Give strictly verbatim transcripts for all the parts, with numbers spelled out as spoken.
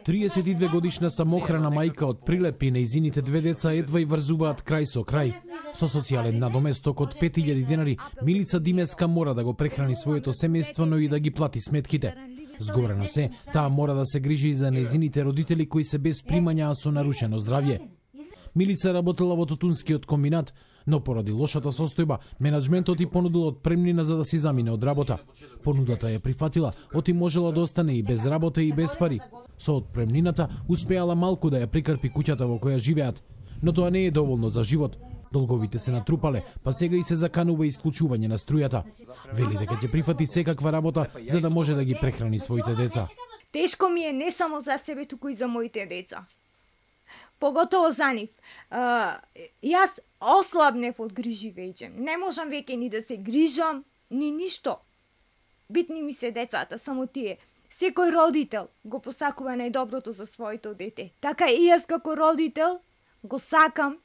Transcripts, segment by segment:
триесет и две годишна самохрана мајка од Прилеп и нејзините две деца едва и врзуваат крај со крај. Со социјален надоместок од пет илјади денари, Милица Димеска мора да го прехрани своето семејство, но и да ги плати сметките. Згорена се, таа мора да се грижи и за нејзините родители кои се без примања, а со нарушено здравје. Милица работела во тутунскиот комбинат, но поради лошата состојба, менаџментот и понудил отпремнина за да си замине од работа. Понудата ја прифатила, оти можела да остане и без работа и без пари. Со отпремнината успеала малку да ја прикрпи куќата во која живеат, но тоа не е доволно за живот. Долговите се натрупале, па сега и се заканува исклучување на струјата. Вели дека ќе прифати секаква работа за да може да ги прехрани своите деца. Тешко ми е не само за себе, туку и за моите деца. Поготово за нив. Uh, јас ослабнев од грижи веќе. Не можам веќе ни да се грижам, ни ништо. Битни ми се децата, само тие. Секој родител го посакува најдоброто за своето дете. Така и јас како родител го сакам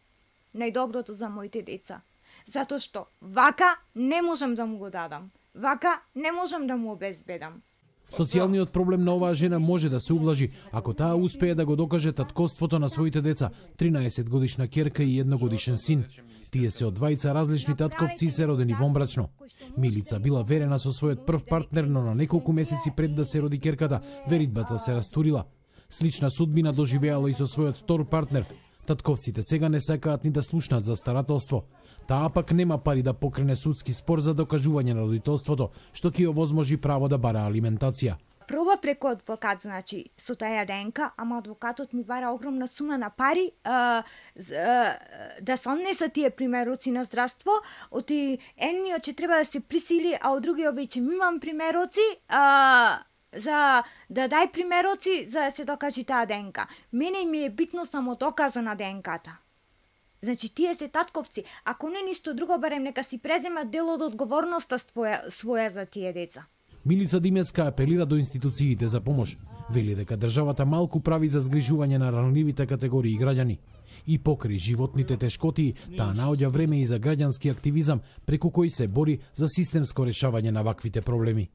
најдоброто за моите деца. Затоа што вака не можам да му го дадам. Вака не можам да му обезбедам. Социјалниот проблем на оваа жена може да се ублажи ако таа успее да го докаже татковството на своите деца, тринаесет годишна ќерка и едногодишен син. Тие се од двајца различни татковци и се родени вонбрачно. Милица била верена со својот прв партнер, но на неколку месеци пред да се роди ќерката, веридбата се растурила. Слична судбина доживеала и со својот втор партнер. Татковците сега не сакаат ни да слушнат за старателство. Таа пак нема пари да покрене судски спор за докажување на родителството, што ќе овозможи право да бара алиментација. Проба преку адвокат, значи, со таја ДНК, ама адвокатот ми бара огромна сума на пари а, а, да се однесат тие примероци на здравство, оти едниот ќе треба да се присили, а од другиот веќе имам примероци, а, за да дај примероци за да се докажи таа ДНК. Мене ми е битно само доказа на ДНК-та. Значи, тие се татковци. Ако не ништо друго, барем нека си преземат дел од одговорноста своја, своја за тие деца. Милица Димеска апелира до институциите за помош. Вели дека државата малку прави за згрижување на ранливите категории граѓани. И покрај животните тешкоти, таа наоѓа време и за граѓански активизам преку кој се бори за системско решавање на ваквите проблеми.